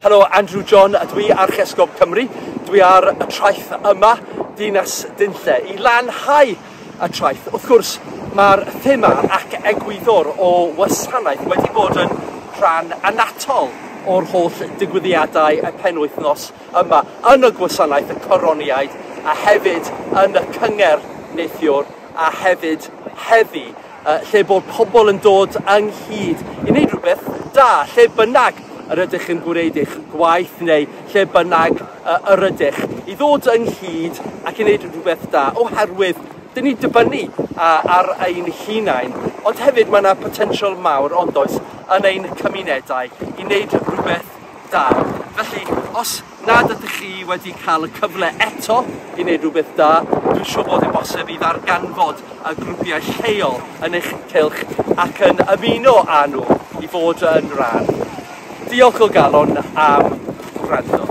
Helo, Andrew John a dwi Archesgob Cymru. Dwi ar y traeth yma, Dinas Dinlle, i lanhau y traeth. Wrth gwrs, mae'r thema ac egwyddor o wasanaeth wedi bod yn rhan anatol o'r holl digwyddiadau y penwythnos yma yn y gwasanaeth y Coroniaid a hefyd yn y cyngerdd neithiwr a hefyd heddi lle bod pobl yn dod ynghyd i wneud rhywbeth da, lle bynnag yr ydych yn gwneud eich gwaith neu lle bynnag yr ydych, i ddod ynghyd ac i wneud rhywbeth da, oherwydd dyn ni'n dibynnu ar ein hunain, ond hefyd mae yna potensial mawr, ond oes, yn ein cymunedau i wneud rhywbeth da. Felly, os nad ydych chi wedi cael y cyfle eto i wneud rhywbeth da, dwi'n siŵr bod yn bosib i ddarganfod y grwpiau lleol yn eich cylch ac yn ymuno â nhw i fod yn rhan. Diolch o galon am wrando.